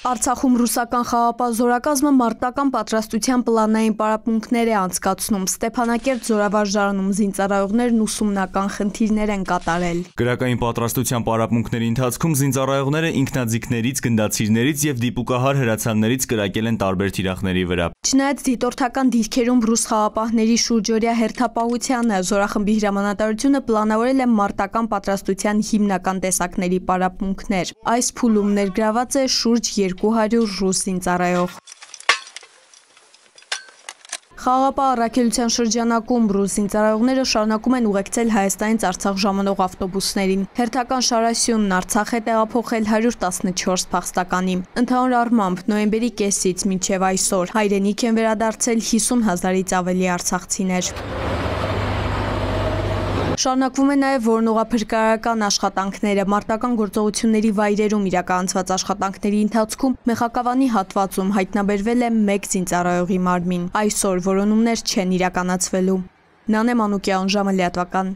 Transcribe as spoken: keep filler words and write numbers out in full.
Արցախում ռուսական խաղապահ զորակազմը մարտական պատրաստության պլանային պարապմունքներ է անցկացնում։ Ստեփանակերտ զորավարժարանում զինծառայողներն ուսումնական խնդիրներ են կատարել։ Գրակային պատրաստության պարապմունքների ընթացքում զինծառայողները ինքնաձիգներից, գնդացիրներից եւ դիպուկահար հրացաններից կրակել են տարբեր թիրախների վրա։ Չնայած դիտորդական դիրքերում ռուս խաղապահների շուրջօրյա հերթապահությանը, զորախմբի հրամանատարությունը պլանավորել է մարտական պատրաստության հիմնական տեսակների պարապմունքներ։ Այս փուլում ներգրաված է շուրջ երկու հարյուր ռուս զինծառայող։ Խաղապահ առաքելության շրջանակում ռուս զինծառայողները շարունակում են ուղեկցել Հայաստանից Արցախ ժամանող ավտոբուսներին։ Հերթական շարասյունն Արցախ է տեղափոխել հարյուր տասնչորս փախստականի։ Ընդհանուր առմամբ նոյեմբերի կեսից մինչև այսօր հայրենիք են վերադարձել հիսուն հազարից ավելի արցախցիներ։ Շարունակվում է նաև որոնողափրկարարական աշխատանքները։ Մարտական գործողությունների վայրերում իրականացված աշխատանքների ընթացքում Մեխակավանի հատվածում հայտնաբերվել է մեկ զինծառայողի մարմին։ Այսօր որոնումներ չեն իրականացվելու։ Նանե Մանուկյան, ժամը լիատվական։